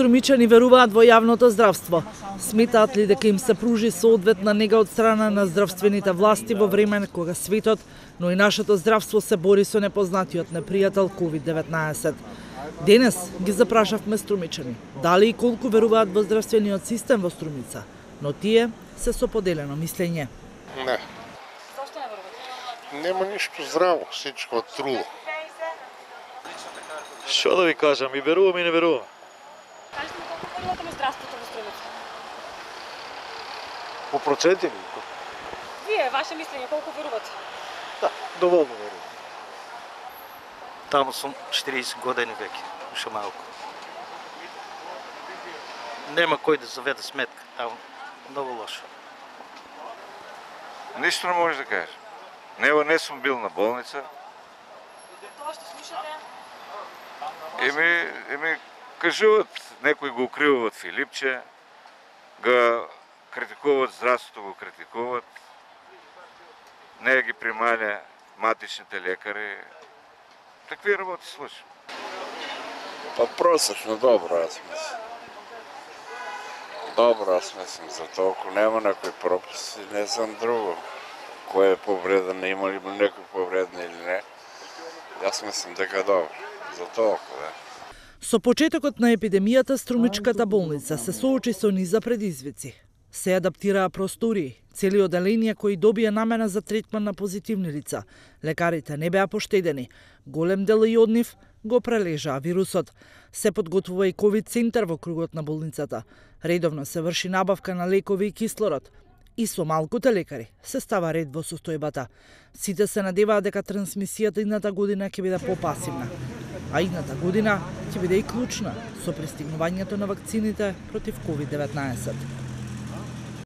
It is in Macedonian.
Струмичани веруваат во јавното здравство. Сметаат ли дека им се пружи соодветна нега од страна на здравствените власти во време кога светот, но и нашето здравство се бори со непознатиот непријател COVID-19. Денес ги запрашавме струмичани дали и колку веруваат во здравствениот систем во Струмица, но тие се со поделено мислење. Не. Зошто не верувате? Нема ништо здраво, сечко труло. Што да ви кажам, и верувам и не верувам. Кажете ми колку верувате во здравството во Струмица? По проценти ли? Вие, ваше мислење, колку верувате? Да, доволно верувам. Таму сум 40 години веќе, уште малку. Нема кој да заведе сметка, таму многу лошо. Ништо не можеш да кажеш. Не сум бил на болница. Тоа што слушате? Еми, кажуват, некои го укриваат Филипче, го критикуват здравството, го критикуват, не ги прималя матичните лекари. Такви работи слушам. Па просечно добро, аз мислам. Добро, аз мислам, за толку нема некои пропуски, не знам друго. Кој е повреден, има ли некој повреден или не. Јас мислам дека е добро, за толку, да. Со почетокот на епидемијата, Струмичката болница се соочи со низа предизвици. Се адаптираа простории, цели оделенија кои добија намена за третман на позитивни лица. Лекарите не беа поштедени. Голем дел и од нив го прележаа вирусот. Се подготвува и ковид центар во кругот на болницата. Редовно се врши набавка на лекови и кислород. И со малкуте лекари се става ред во состојбата. Сите се надеваат дека трансмисијата идната година ќе биде попасивна. А идната година ќе биде и клучна со пристигнувањето на вакцините против COVID-19.